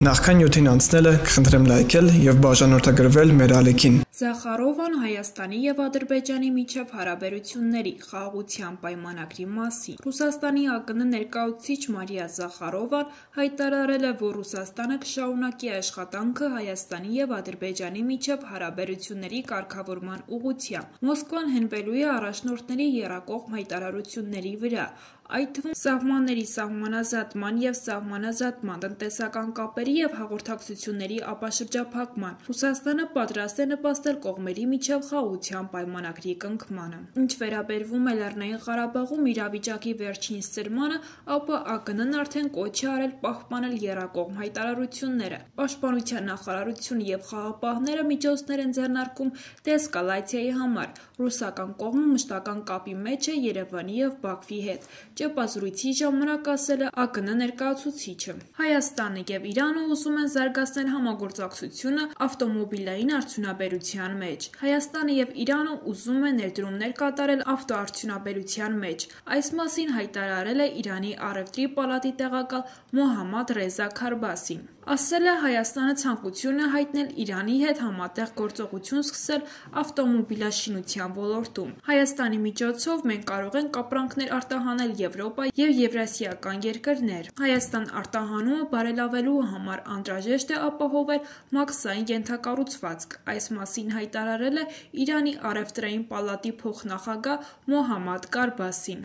Նախքան նյութին անցնելը կխնդրեմ լայքել և բաժանորդագրվել մեր ալիքին։ Զախարովան Հայաստանի և Ադրբեջանի միջև հարաբերությունների խաղաղության պայմանագրի մասին։ Ռուսաստանի ԱԿՆ ներկայացուցիչ Մարիա Զախարովան հայտարարել է, որ Ռուսաստանը կշարունակի աշխատանքը Հայաստանի և Ադրբեջանի միջև հարաբերությունների կարգավորման ուղղությամբ։ Մոսկվան հենվելու է առաջնորդների եռակողմ հայտարարությունների վրա, այդ թվում սահմանների սահմանազատման և սահմանազատման, տնտեսական կապերի և հաղորդակցությունների ապաշրջափակման։ Ռուսաստանը պատրաստ է նպաստել կողմերի միջև խաղաղության պայմանագրի կնքմանը։ Ինչ վերաբերվում է Լեռնային Ղարաբաղում իրավիճակի վերջին սրմանը, ապա ԱԿՆ-ն արդեն կոչ է արել պահպանել եռակողմ հայտարարությունները։ Պաշտպանության նախարարությունը և խաղաղապահները միջոցներ են ձեռնարկում դեէսկալացիայի համար։ Ռուսական կողմը մշտական կապի մեջ է Երևանի և Բաքվի հետ, ճեպազրույցի ժամանակ ասել է ԱԿՆ ներկայացուցիչը։ Հայաստանը և Իրանը ուզում են զարգացնել համագործակցությունը ավտոմոբիլային արդյունաբերության մեջ։ Հայաստանը և Իրանը ուզում են ներդրումներ կատարել ավտոարդյունաբերության մեջ։ Այս մասին հայտարարել է Իրանի առևտրի պալատի տեղակալ Մոհամմադ Ռեզա Քարբասին։ Ասել է Հայաստանը ցանկություն է հայտնել Իրանի հետ համատեղ գործողություն սկսել ավտոմոբիլաշինության ոլորտում։ Հայաստանի միջոցով մենք կարող ենք ապրանքներ արտահանել Եվրոպա և եվրասիական երկրներ։ Հայաստան արտահանումը բարելավելու համար անհրաժեշտ է ապահովել մաքսային ենթակառուցվածք։ Այս մասին հայտարարել է Իրանի առևտրային պալատի փոխնախագահ Մոհամմադ Կարբասին։